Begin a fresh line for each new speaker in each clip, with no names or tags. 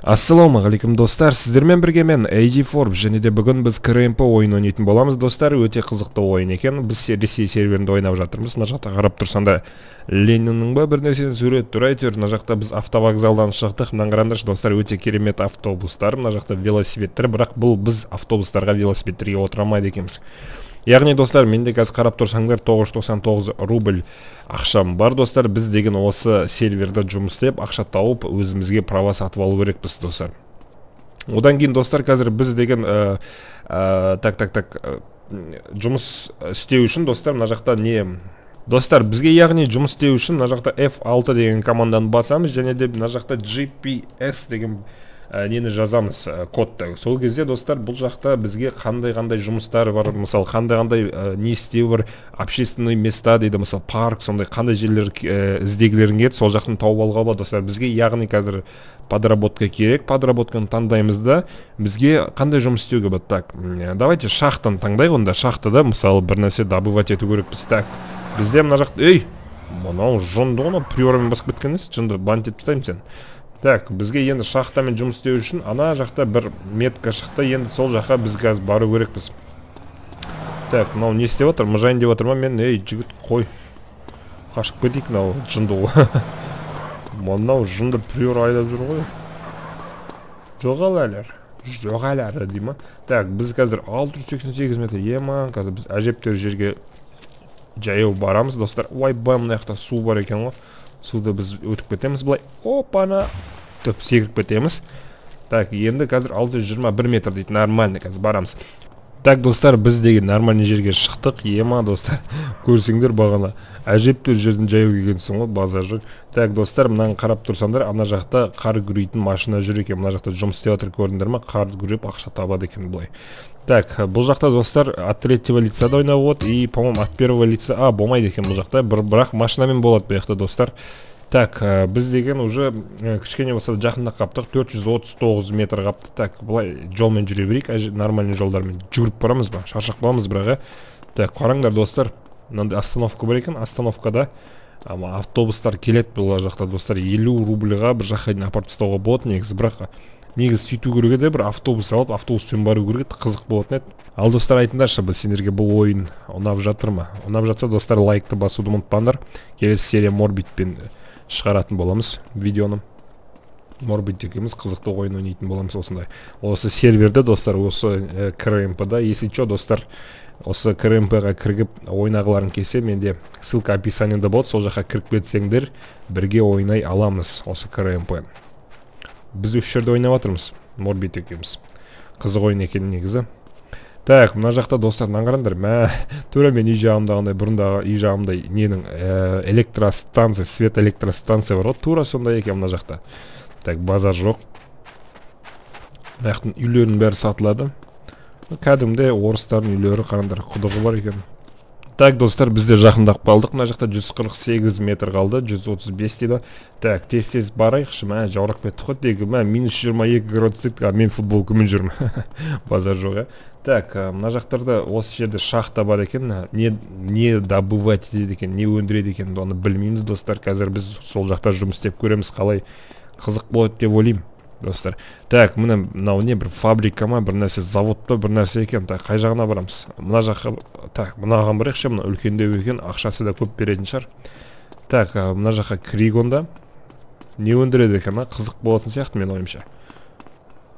Ассалаумағалейкум достар, сіздермен бірге мен AG Forbes және де бүгін біз КРМП ойын ойнайтын боламыз. Достар, өте қызықты ойын екен. Біз Ресей серверінде ойнап жатырмыз. Мына жақта қарап тұрсанда Лениннің ба бір нәрсені сурет тұр. Әйтеуір мына жақта біз автовокзалдан шықтық. Мына қараңдаршы достар, өте керемет автобустар. Мына жақта велосипедтер, бірақ бұл біз автобустарға велосипедтерге отыра алмайды екенбіз. Яғни достар, менде қазір қарап тұрсаңдар 999 рубль ақшам бар достар. Біз деген осы серверде жұмыс істеп, ақша тауып, өзімізге права сатып алу керекпіз достар. Одан кейін достар, қазір біз деген жұмыс істеу үшін достар, мына жақта не достар, бізге яғни жұмыс істеу үшін мына жақта F6 деген команданы басамыз, және де мына жақта GPS деген нені жазамыз, кодты. Сол кезде достар, бұл жақта бізге қандай жұмыстар бар, мысалы қандай не істеу бар, общественный места дейді, мысалы парк, сондай қандай жерлер іздегілерің келеді, сол жақтан тауып алуға болады достар. Бізге яғни қазір подработка керек, подработканы таңдаймыз да, бізге қандай жұмыс істеуге болады. Так, давайте шахтаны таңдайық, онда шахтада мысалы бір нәрсе добывать ету керекпіз. Так, бізде мына жақта, мынау жонды ғана приормен басып кеткен емес, жынды бантит тастаймын сен. Так, бізге енді шахтамен жұмыс істеу үшін ана жақта бір метка шықты, енді сол жаққа біз қазір бару керекпіз. Так, мынау не істеп отыр? Мұжайын деп отыр ма? Мен, жігіт, қой. Қашып кетейік, мынау жынды ғой. Мынау жынды приор айдап жүр ғой. Жоғалар, дей ма? Так, біз қазір 688 метр ема, қазір біз әжептер жерге жаяу барамыз, достар. Ой, мына жақта су бар екен ғой. Суды біз өтіп кетеміз бұлай. Опана! Төп секіріп кетеміз. Так, енді қазір 621 метр дейді. Нормальный қазір барамыз. Так, достар, біз деген нормальный жерге шықтық. Ема, достар, көрсеңдер бағана. Әжептер жердің жаяу келгенсің ғой, базар жоқ. Так, достар, мынаны қарап тұрсаңдар, ана жақта қар күрейтін машина жүр екен. Мына жақта жұмыс істеп отыр, көрдіңдер ме? Қар күреп ақша табады екен бұлай. Так, бұл жақта достар от третьего лица да ойнап от, и, по-моему, от первого лица, болмайды екен бұл жақта, бірақ машинамен болады бұл жақта достар. Так, біз деген уже кішкене болса жақында қаптық, 439 метр қапты. Так, бұлай жолмен жүре берейік, нормальный жолдармен жүріп барамыз ба, шаршақ боламыз бірақ. Так, қараңдар достар, мынандай остановка бар екен, остановкада автобустар келеді бұл жақта достар, 50 рубльға бір жаққа дейін апарып тастауға болады негізі, бірақ негіз сөйту керек еді, бір автобус алып, автобуспен бару керек еді, қызық болатын еді. Ал достар, айтыңдаршы, біз сендерге бұл ойын ұнап жатыр ма? Ұнап жатса достар, лайкты басуды ұмытпаңдар. Келесі серия Морбитпен шығаратын боламыз видеоны. Морбит екеуміз қызықты ойын ойнайтын боламыз осындай. Осы серверде достар, осы КРМП-да, если что, достар, осы КРМП-ға кіргіп ойнағыларын келсе, менде ссылка описаниеда болады, сол жаққа кіріп кетсеңдер, бірге ойнай аламыз осы КРМП. Біз үш жерде ойнап жатырмыз, Морбит екеуміз. Қызық ойын екен негізі. Так, мына жақта достар, қараңдар, тура мен үй жағымдағындай, бұрындағы үй жағымдай ненің электростанция, свет электростанция бар ғой, тура сондай екен мына жақта. Так, базар жоқ. Мына жақтың үйлерінің бәрі сатылады. Кәдімде орыстардың үйлері, қараңдар, құдығы бар екен. Так, достар, бізде жақындап қалдық. Мына жақта 148 метр қалды, 135 дейді. Так, тез барайықшы, жаурақ кетті ғой, дегі, минус 22 градус дейді, мен футбол күмін жүрмін. Базар жоқ, Так, мына жақтарда осы жерде шахта бар екен, не добывать етеді екен, не өндіреді екен, оны білмейміз, достар. Қазір біз сол жақта жұмыс істеп көреміз, қалай қызық болады деп ойлаймын, достар. Так, мынау не бір фабрика ма, бір нәрсе, завод па, бір нәрсе екен. Так, қай жағына барамыз? Мына жаққа, так, мынаған барайықшы, мына үлкендеу екен, ақшасы да көп беретін шығар. Так, мына жаққа кірейік онда. Не өндіреді екен, қызық болатын сияқты мен ойымша.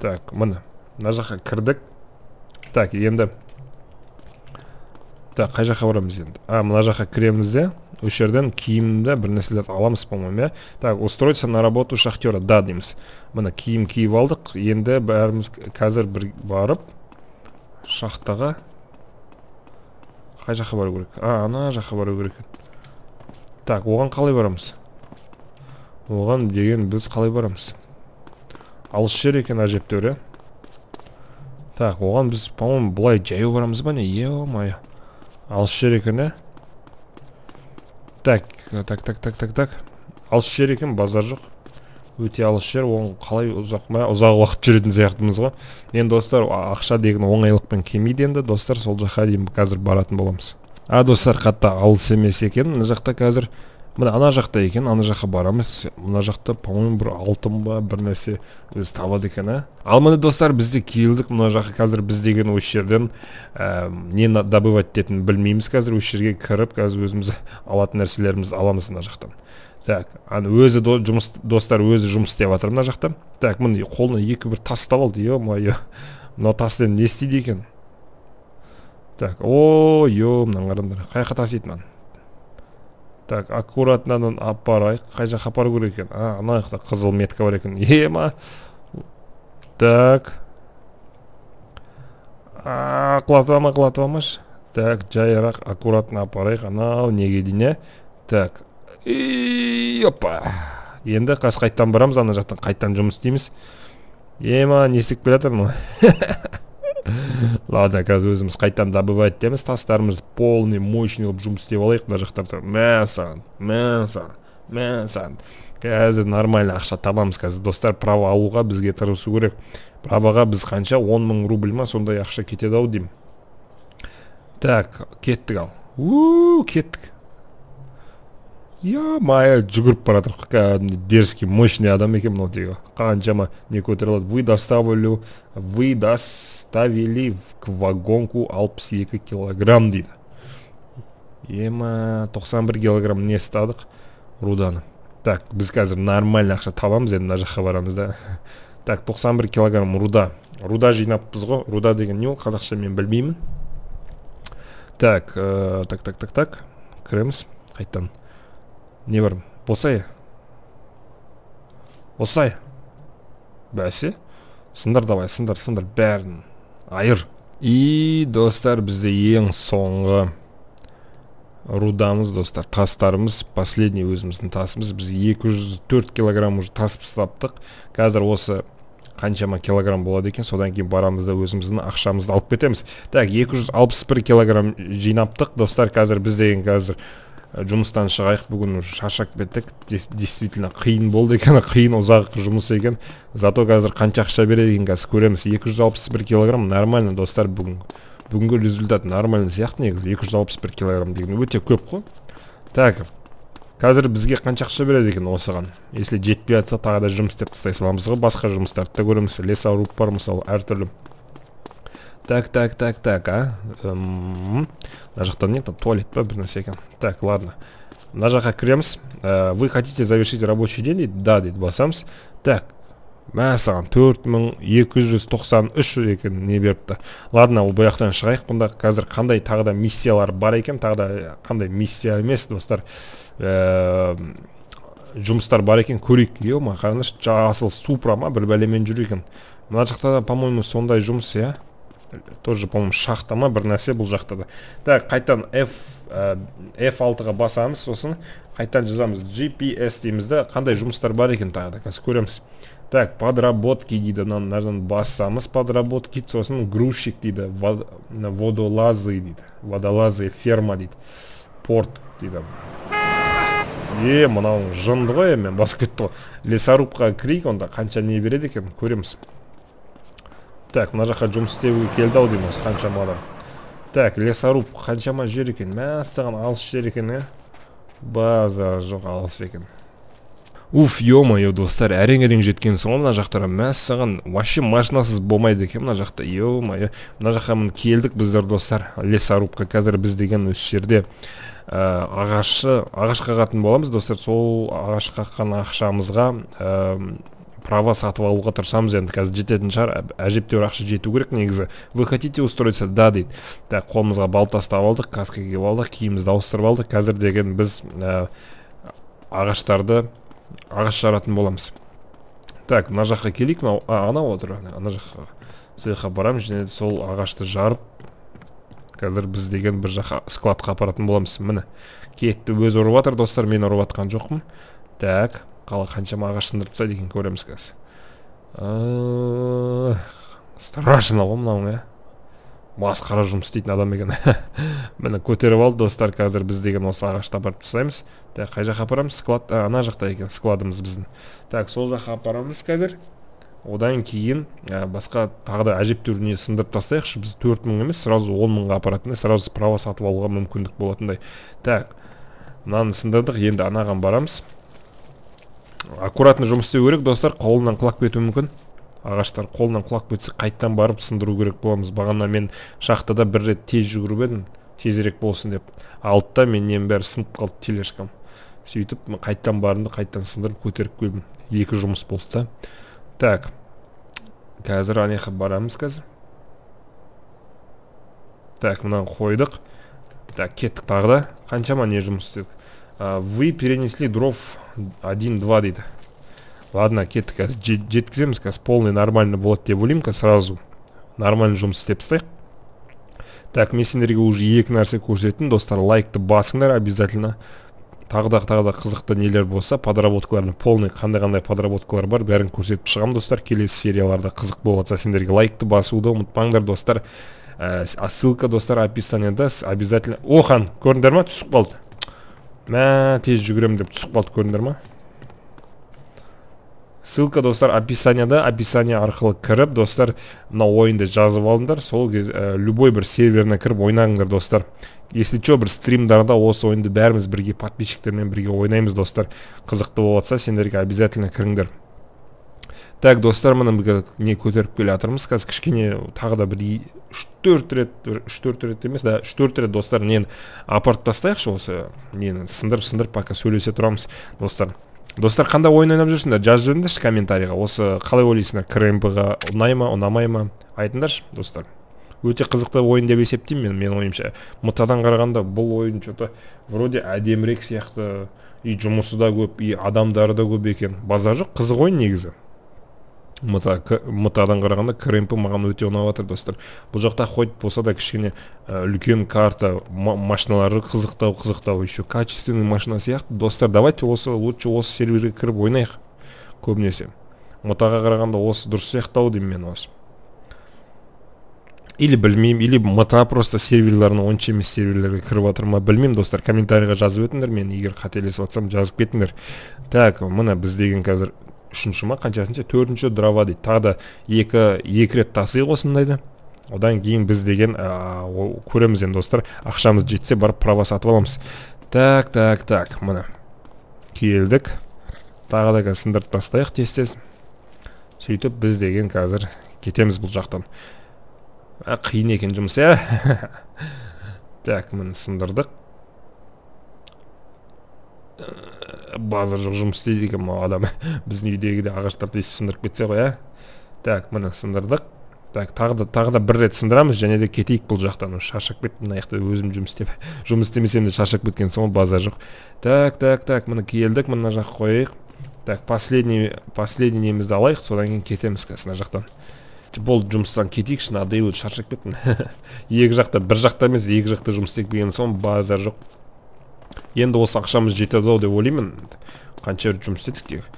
Так, мына жаққа кірдік. Так, енді так, қай жаққа барамыз енді? Мына жаққа кіреміз де, үш жерден киімді бір нәрселерді аламыз, по-моему. Так, устроиться на работу шахтера, да, дейміз. Мына киім киіп алдық, енді бәріміз қазір бір барып шахтаға қай жаққа бару керек? Ана жаққа бару керек. Так, оған қалай барамыз? Оған деген біз қалай барамыз? Алыс жер екен әжептәуір. Так, оған біз, по-моему, бұлай жаяу барамыз ба не? Е-о-майя. Алыс жер екен, Так. Алыс жер екен, базар жоқ. Өте алыс жер, оған қалай ұзақ уақыт жүретін сияқтымыз ғой. Енді достар, ақша деген оңайлықпен келмейді енді, достар, сол жаққа дейін қазір баратын боламыз. Достар, қатты алыс емес екен. Мына жақта қазір мына ана жақта екен, ана жаққа барамыз. Мына жақта по-моему бір алтын ба бір нәрсе өзі табады екен, ал міне достар, бізде келдік мына жаққа. Қазір біз деген осы жерден не добывать ететінін білмейміз. Қазір осы жерге кіріп, қазір өзіміз алатын нәрселерімізді аламыз мына жақтан. Так, аны өзі достар өзі жұмыс істеп жатыр мына жақта. Так, міне қолына екі бір тас алды. Ё-моё, мына таспен не істейді екен? Так, ё, мына қараңдар, қай жаққа тасиды? Так, аккуратно апарайық. Қай жаққа апару керек екен? Ана жақта қызыл метка бар екен. Ема. Так. Құлатывамаш. Так, жайырақ, аккуратно апарайық. Анау неге дейін, Так. Опа. Енді қайттан барамыз, ана жақтан қайттан жұмыс істейміз. Ема, не істеп келе жатырмын? Ладно, қазір өзіміз қайттан добывать етеміз. Тастарымыз полный, мощный болып жұмыс істеп алайық. Мына жақтарда мәсан. Қазір нормально ақша табамыз. Қазір достар, право алуға бізге тырысу керек. Правоға біз қанша 10 000 рубль ма сондай ақша кетеді ау деймін. Так, кеттік ал. Кеттік. Ё-моё, жүгіріп баратыр. Дерзкий, мощный адам екен мынау тегі. Қаншама не көтере алады. Вы доставили в вагонку 62 килограмм дейді. Ема, 91 килограмм не стадық руданы. Так, біз қазір нормально ақша табамыз, енді мына жаққа барамыз да. Так, 91 килограмм руда. Руда жинаппыз ғой. Руда деген не ол? Қазақша мен білмеймін. Так, кіреміз. Қайттан. Не бар? Босай. Бәсе? Сындар давай, сындар бәрін. Айыр. И достар, бізде ең соңғы рудамыз, достар, тастарымыз, последний өзіміздің тасымыз. Біз 204 килограмм уже тасып тастаптық. Қазір осы қаншама килограмм болады екен, содан кейін барамыз да өзіміздің ақшамызды алып кетеміз. Так, 261 килограмм жинаптық, достар. Қазір біз деген қазір жұмыстан шығайық, бүгін шаршап кеттік. Действительно қиын болды екен, қиын ұзақ жұмыс екен. Зато қазір қанша ақша береді екен қазір көреміз. 261 килограмм нормально, достар. Бүгінгі результат нормально сияқты негізі. 261 килограмм деген өте көп қой. Так, қазір бізге қанша ақша береді екен осыған? Если жетпей жатса, тағы да жұмыс істеп тастай саламыз ғой. Басқа жұмыстарды да көреміз. Лесоруб бар мысалы, әртүрлі. Так, мына жақтан не, туалет па бір нәрсе екен. Так, ладно. Мына жаққа кіреміз. Вы хотите завершить рабочий день дейді? Да дейді, басамыз. Так, мәсаған 4293 екен не беріпті. Ладно, ол бұяқтан шығайық. Бұнда қазір қандай тағы да миссиялар бар екен, тағы да қандай миссия емес, достар. Жұмыстар бар екен, көрейік. Ема, қараңыз, жасыл Супра ма бір бәлемен жүр екен. Мына жақта да, по-моему, сондай жұмыс, тоже, по-моему, шахта ма бір нәрсе бұл жақта да. Так, қайттан F6-ға басамыз, сосын қайттан жазамыз GPS дейміз да, қандай жұмыстар бар екен тағы да, қазір көреміз. Так, подработки дейді, мынадан басамыз, подработки, сосын грузчик дейді, водолазы дейді, водолазы ферма дейді, порт дейді. Мынау жынды ғой, мен басып кетті ғой. Лесорубқа кірейік, онда қанша не береді екен, көреміз. Так, мына жаққа жұмыс істеуге келді ау дейміз, қаншама адам. Так, лесоруб қаншама жер екен, мәстіған алыс жер екен, база жоқ алыс екен. Ё-моё, достар, әрең жеткен соң мына жақтара мәссаған вообще машинасыз болмайды екен мына жақта. Ё-моё, мына жаққа мін келдік біздер, достар, лесорубқа. Қазір біз деген осы жерде ағаш қағатын боламыз, достар. Сол ағаш қаққан ақшамызға право сатып алуға тырысамыз. Енді қазір жететін шығар, әжептәуір ақша жету керек негізі. Вы хотите устроиться? Да дейді. Так, қолымызға балта ұстап алдық, каска киіп алдық, киімімізді ауыстырып алдық. Қазір деген біз ағаш жаратын боламыз. Так, мына жаққа келейік. Анау отыр, ана жаққа. Сол жаққа барамыз, және сол ағашты жарып, қазір біз деген бір жаққа складқа апаратын боламыз. Міне, кетті, өзі ұрып жатыр, достар, мен ұрып жатқан жоқпын. Так, қаншама ағаш сындырып тастайды екен, көреміз қазір. Страшно ғой мынау, масқара жұмыс істейтін адам екен. Міне көтеріп алды, достар, қазір біз деген осы ағашты апарып тастаймыз. Так, қай жаққа апарамыз? Склад, ана жақта екен складымыз біздің. Так, сол жаққа апарамыз қазір. Одан кейін басқа тағы да әжептәуір не сындырып тастайықшы. Біз 4000 емес, сразу 10 000-ға апаратындай, сразу право сатып алуға мүмкіндік болатындай. Так, Мынаны сындырдық, енді анаған барамыз. Аккуратно жұмыс істеу керек, достар, қолынан құлап кетуі мүмкін. Ағаштар қолынан құлап кетсе, қайттан барып сындыру керек боламыз. Бағана мен шахтада бір рет тез жүгіріп едім, тезірек болсын деп. Алтта мен нем бәрі сынып қалды, тележкам. Сөйтіп, қайттан барымды, қайттан сындырып көтеріп келдім. 2 жұмыс болды да. Так. Қазір анеқа барамыз қазір. Так, мынаны қойдық. Так, кеттік тағы да. Қаншама не жұмыс істедік. Вы перенесли дров 1-2 дейді. Ладно, кеттік қазір. Жеткіземіз қазір. Полный нормально болады деп ойлаймын қазір сразу. Нормально жұмыс істеп тастайық. Так, мен сендерге уже 2 нәрсе көрсеттім. Достар, лайкты басыңдар обязательно. Тағы да қызықты нелер болса, подработкалардың полный қандай подработкалар бар, бәрін көрсетіп шығамын, достар. Келесі серияларда қызық болса, сендерге лайкты басуды ұмытпаңдар, достар. Ссылка, достар, описаниеда обязательно. Охан, көрдіңдер ма? Түсіп қалды. Мә, тез жүгірем деп түсіп қалды, көрдіңдер ма? Ссылка, достар, описаниеда, описание арқылы кіріп, достар, мына ойынды жазып алыңдар. Сол кез любой бір серверіне кіріп ойнаңдар, достар. Если что, бір стримдарда осы ойынды бәріміз бірге подписчиктермен бірге ойнаймыз, достар. Қызықты болатса, сендерге обязательно кіріңдер. Так, достар, мына не көтеріп келе жатырмыз. Қазір кішкене тағы да бір 3-4 рет емес, да, 3-4 рет, достар, нені апарт тастайықшы осы, нені сындырып пока сөйлесе тұрамыз, достар. Достар, қандай ойын ойнап жүрсіңдер? Жазып жүріңдерші комментарийға. Осы қалай ойлайсыңдар? КРМП-ға ұнай ма, ұнамай ма? Айтыңдаршы, достар. Өте қызықты ойын деп есептеймін мен ойымша. Мытадан қарағанда бұл ойын что-то вроде әдемірек сияқты, и жұмысы да көп, и адамдары да көп екен. Базар жоқ, қызық ойын негізі. Мытадан қарағанда КРМП маған өте ұнап жатыр, достар. Бұл жақта хоть болса да кішкене үлкен карта, машиналары қызықтау, еще качественный машина сияқты. Достар, давайте лучше осы серверге кіріп ойнайық көбінесе. Мытаға қарағанда осы дұрыс сияқтау деймін мен осы. Или білмеймін, или мыта просто серверларына онша емес серверлерге кіріп жатыр ма, білмеймін, достар. Комментарийға жазып өтіңдер, мен егер қателесіп жатсам жазып кетіңдер. Так, мына біз деген қазір 3-ші ма, қаншасынша 4-ші дрова дейді. Тағы да 2 рет тасыйық осындайды. Одан кейін біз деген көреміз енді, достар. Ақшамыз жетсе барып права сатып аламыз. Так, мына келдік. Тағы да сындырып тастайық тез. Сөйтіп біз деген қазір кетеміз бұл жақтан. Қиын екен жұмыс, Так, міне сындырдық. Базар жоқ жұмыс істейді екен ма адам. Біздің үйдегі де ағаштарды сындырып кетсе ғой, Так, міне сындырдық. Так, тағы да бір рет сындырамыз, және де кетейік бұл жақтан. Шаршап кеттім, мына жақта өзім жұмыс істемесем де шаршап кеткен соң базар жоқ. Так, міне келдік, мына жаққа қойайық. Так, последний немізді алайық, содан кейін кетеміз қазір жақтан. Бұл жұмыстан кетейікші, надоело, шаршап кеттім. Екі жақта, бір жақта емес, екі жақта жұмыс істеп келген соң базар жоқ. Енді осы ақшамыз жетеді деп ойлаймын. Қанша жұмыс істедік тек.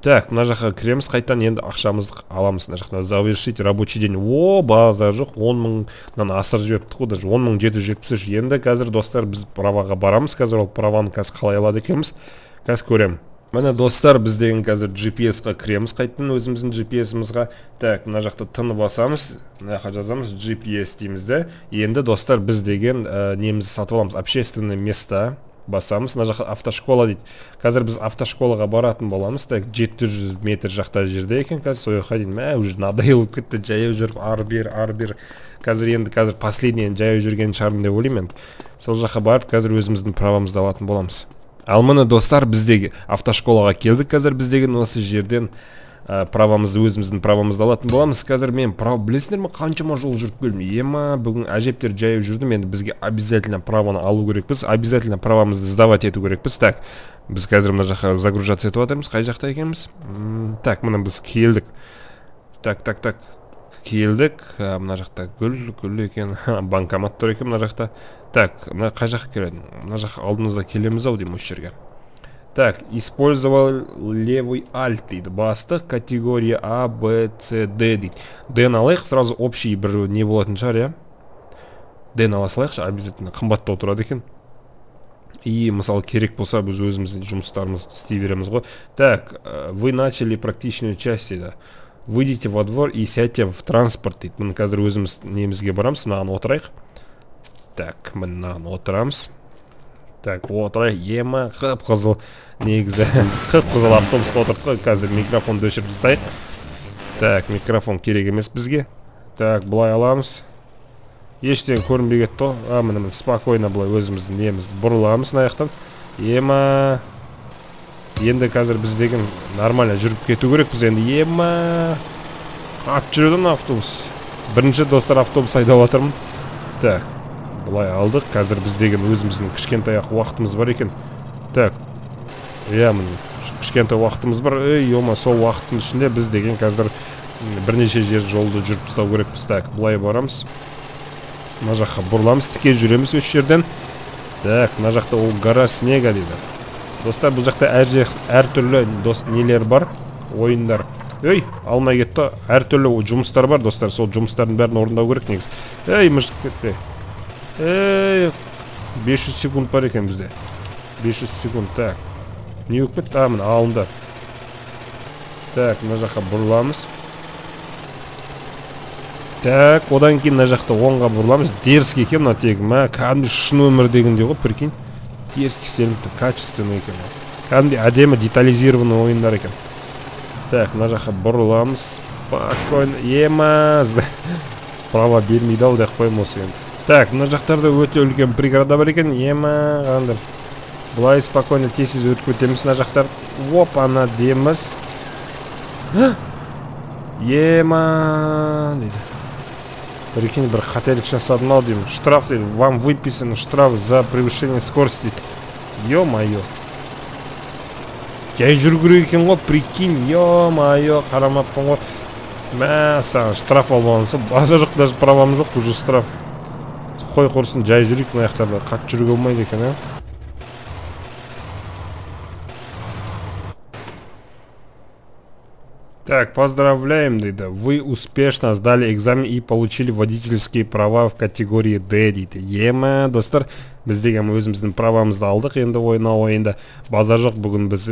Так, мына жаққа кіреміз, қайтан енді ақшамызды аламыз. Мына жақта завершить рабочий день. Базар жоқ, 10 000-нан асыр жіберіпті ғой, даже 10 773. Енді қазір, достар, біз праваға барамыз. Қазір ол праваны қазір қалай алады екенбіз, қазір көрем. Міне, достар, біз деген қазір GPS-ға кіреміз, қайттан өзіміздің GPS-імізға. Так, мына жақта тыны басамыз, мына жаққа жазамыз GPS дейміз де. Енді, достар, біз деген немізді сатып аламыз. Общественное место басамыз, мына жаққа автошкола дейді. Қазір біз автошколаға баратын боламыз. Так, 700 метр жақта жерде екен, қазір сояққа дейін. Уже надоеліп кетті, жаяу жүріп, ары бер. Қазір последний жаяу жүрген шығармын деп ойлаймын. Сол жаққа барып, қазір өзіміздің правамызды алатын боламыз. Ал міне, достар, біздегі автошколаға келдік. Қазір біздеген осы жерден өзіміздің правамызды алатын боламыз. Қазір мен білесіңдер ме, қаншама жол жүріп келдім. Бүгін әжептер жаяу жүрдім. Енді бізге обязательно праваны алу керекпіз. Обязательно правамызды сдавать ету керекпіз. Так, біз қазір мына жаққа загружаться етіп жатырмыз. Қай жақта екенбіз? Так, міне біз келдік. Так, келдік. Мына жақта гүл екен. Банкомат тұр екен мына жақта. Так, мына қай жаққа келеді? Мына жаққа алдымызда келеміз ау деймін осы жерге. Так, использовал левый альт дейді. Бастық, категория А, Б, С, Д дейді. Д-ны алайық, сразу общий бір не болатын шығар, Д-ны ала салайықшы, обязательно қымбаттау тұрады екен. И, мысалы, керек болса, біз өзіміздің жұмыстарымызды істей береміз ғой. Так, вы начали практичную часть дейді. Выйдите во двор и сядьте в транспорт дейді. Міне қазір өзіміз немізге барамыз, мынаған отырайық. Так, мынаған отырамыз. Так, отырайық. Ема қып-қызыл негізі қып-қызыл автобусқа отырдық қой. Қазір микрофонды өшіріп тастайық. Так, микрофон керек емес бізге. Так, былай аламыз. Ештен көрінбей кетті ғой. Міне спокойно былай өзіміздің немізді бұрыламыз аяқтан. Ема. Енді қазір біз деген нормально жүріп кету керек. Біз енді ема. Қатты жүреді автобус. Бірінші достар автобус айдап жатырмын. Так, былай алдық. Қазір біз деген өзіміздің кішкентай уақытымыз бар екен. Так. Міне кішкентай уақытымыз бар. Сол уақыттың ішінде біз деген қазір бірнеше жер жолды жүріп тастау керекпіз. Так, былай барамыз. Мына жаққа бұрыламыз, тіке жүреміз осы жерден. Так, мына жақта ол гора снега дейді. Достар, бұл жақта әртүрлі нелер бар, ойындар. Алмай кетті. Әртүрлі жұмыстар бар, достар. Сол жұмыстардың бәрін орындау керек негіз. Мыжық кетпе. 500 секунд бар екен бізде. 500 секунд, так. Не өкпет? Мына алынды. Так, мына жаққа бұрыламыз. Так, одан кейін мына жақта оңға бұрыламыз. Дерзкий екен мына тегім. Кәдімгі шын өмір дегенде ғой, прикинь. Дерзкий сенімді, качественный екен. Кәдімгі әдемі детализированный ойындар екен. Так, мына жаққа бұрыламыз. Спокойно. Емаз. Права бермейді ау деп қойым осы енді. Так, мына жақтарда өте үлкен преграда бар екен. Ема қандар. Бұлай спокойно тез өтіп өтеміз мына жақтар. Оп, ана деміз. Ема дейді. Прикинь, бір қателік жасадым ау деймін. Штраф дейді. Вам выписан штраф за превышение скорости дейді. Ё-майо. Жай жүру керек екен ғой, прикинь. Ё-майо, қарамаппын ғой. Саған штраф албағанса, база жоқ, даже правам жоқ, уже штраф. Қой құрсын, жай жүрейік мына жақтарда. Қатты жүруге болмайды екен, Так, поздравляем, дейді. Вы успешно сдали экзамен и получили водительские права в категории D, дейді. Ема, достар, біз деген өзіміздің правамызды алдық, енді ойында базар жоқ. Бүгін біз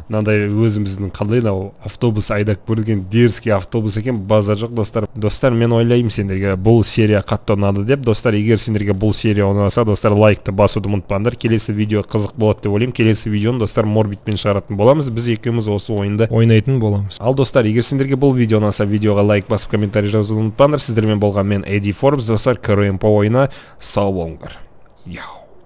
мынандай өзіміздің қандай автобус айдап көрген дерзкий автобус екен, базар жоқ, достар. Достар, мен ойлаймын сендерге бұл серия қатты ұнады деп. Достар, егер сендерге бұл серия ұнаса, достар, лайкты басуды ұмытпаңдар. Келесі видео қызық болады деп ойлаймын. Келесі видеоны достар Морбитпен шығаратын боламыз. Біз екеуміз осы ойында ойнайтын боламыз. Ал достар, егер сендерге бұл видео ұнаса, видеоға лайк басып комментарий жазуды ұмытпаңдар. Сіздермен болған мен Эдди Форбс, достар, көрем по ойына. Сау болыңдар. Яу.